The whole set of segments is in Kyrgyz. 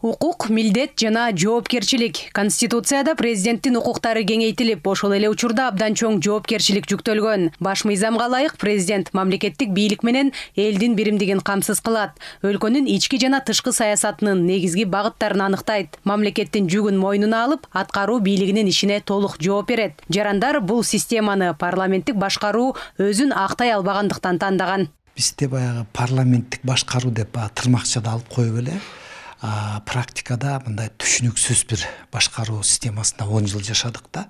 Укук, милдет жана жоопкерчилик. Конституцияда президенттин укуктары кеңейтилип, ошол эле учурда абдан чоң жоопкерчилик жүктөлгөн. Баш мыйзамга ылайык президент мамлекеттик бийлик менен элдин биримдигин камсыз кылат. Өлкөнүн ички жана тышкы саясатынын негизги багыттарын аныктайт. Мамлекеттин жүгүн мойнуна алып, аткаруу бийлигинин ишине толук жооп берет. Жарандар бул системаны парламенттик башкаруу өзүн актай албагандыктан тандаган. Бизде баягы парламенттик башкаруу деп тырмакчада алып коюп эле. Практикада мындай түшүнүксүз бир башкаруу системасында 10 жыл жашадык да.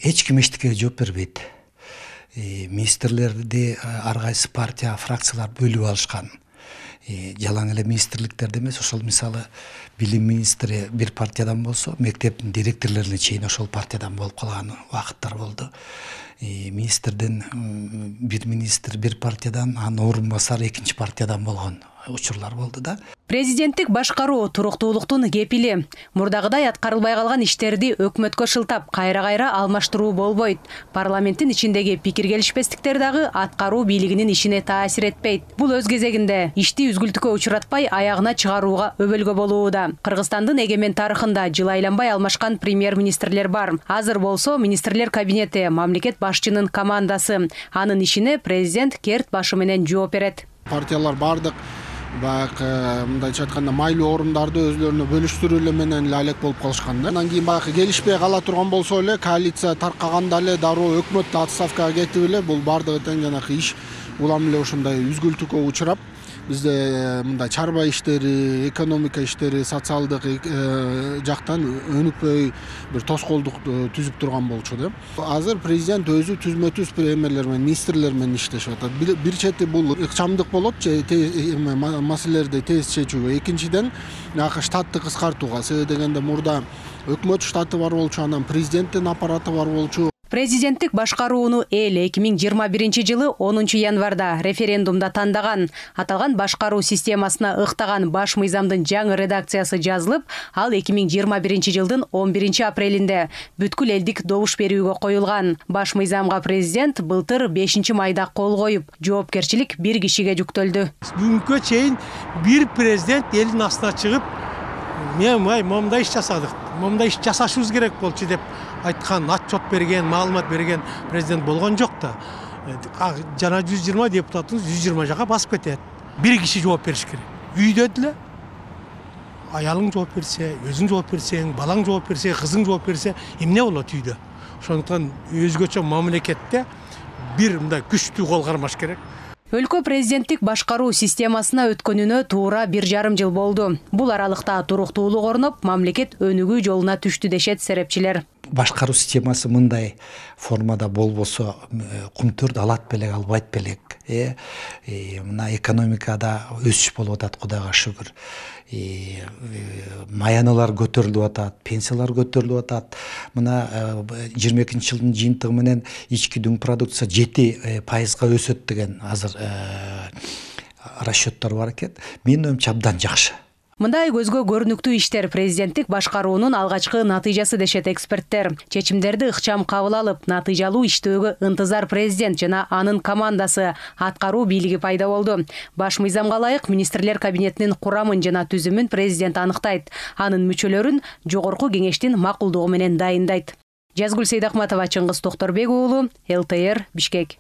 Эч ким эчтекеге жооп бербейт. Министрлерди ар кайсы партия, фракциялар бөлүп алышкан. Жалаң эле министрликтерде эмес, ошол мисалы билим министри бир партиядан болсо, мектептин директорлоруна чейин ошол партиядан болуп калган убакыттар болду. Министрден бир министр бир партиядан, анын орун басары экинчи партиядан болгон учурлар болду да. Президенттик башкаруу туруктуулуктун кепили. Мурдагыдай аткарылбай калган иштерди өкмөткө шылтап, кайра-кайра алмаштыруу болбойт. Парламенттин ичиндеги пикир келишпестиктер дагы аткаруу бийлигинин ишине таасир этпейт. Бул өз кезегинде ишти үзгүлтүккө учуратпай аягына чыгарууга өбөлгө болууда. Кыргызстандын эгемен тарыхында жыл айланбай алмашкан премьер-министрлер бар. Азыр болсо министрлер кабинети, мамлекет башчынын командасы. Анын ишине президент керт башы менен жооп берет. Партиялар бардык мындайча айтканда майлуу орундарды өзлөрүнө бөлүштүрүү менен алек болуп калышкан да. Андан кийин келишпей кала турган болсо эле, коалиция таркаганда эле дароо өкмөт отставкага кетип эле, бул бардыгы тең жанагы иш улам эле ушундай үзгүлтүккө учурап, бизде мындай чарба иштери, экономика иштери, социалдык жактан өнүкпөй бир тоскоолдук түзүп турган болчу да. Азыр президент өзү түзмө-түз премьерлер менен, министрлер менен иштешип атат. Бир чети бул ыкчамдык болот, маселелерди тез чечүүгө. Экинчиден, штатты кыскартууга. Себеби дегенде мурда өкмөт штаты бар болчу, анан президенттин аппараты бар болчу. Президенттик башкарууну эл 2021 жылы 10 январда референдумда тандаган. Аталган башкаруу системасына ыктаган баш мыйзамдын жаңы редакциясы жазылып, ал 2021 жылдын 11 апрелинде бүткүл элдик добуш берүүгө коюлган. Баш мыйзамга президент былтыр 5 майда кол коюп, жоопкерчилик бир кишиге жүктөлдү. Бүгүнкү чейин бир президент элдин астына чыгып, мен момундай иш жасадык, момундай иш жасашыбыз керек болчу деп айткан, отчет берген, маалымат берген президент болгон жок да. Жана 120 депутатыбыз 120 жака басып кетет. Бир киши жооп бериш керек. Үйдө деле аялың жооп берсе, өзүң жооп берсең, балаң жооп берсе, кызың жооп берсе, эмне болот үйдө? Ошондуктан өзгөчө мамлекетте бир мындай күчтүү кол кармаш керек. Өлкө президенттик башкаруу системасына өткөнүнө туура 1,5 жыл болду. Бул аралыкта туруктуулук орноп, мамлекет өнүгүү жолуна түштү дешет серепчилер. Башкаруу системасы мындай формада болбосо, кумтөрдү алат белек, албайт белек. Мына экономикада өсүш болуп атат, Кудайга шүгүр. Маяналар көтөрүлүп атат, пенсиялар көтөрүлүп атат. Мына 22 жылдын жыйынтыгы менен ички дүң продукция 7% өсөт деген азыр расчеттор бар экен. Менин оюмча абдан жакшы. Мындай көзгө көрүнүктүү иштер президенттик башкаруунун алгачкы натыйжасы дешет эксперттер. Чечимдерди ыкчам кабыл алып, натыйжалуу иштөөгө ынтызар президент жана анын командасы, аткаруу бийлиги пайда болду. Баш мыйзамга ылайык министрлер кабинетинин курамын жана түзүмүн президент аныктайт. Анын мүчөлөрүн жогорку кеңештин макулдугу менен дайындайт. Жазгүл Сейдахматова, Чыңгыз Токторбек уулу, ЛТР, Бишкек.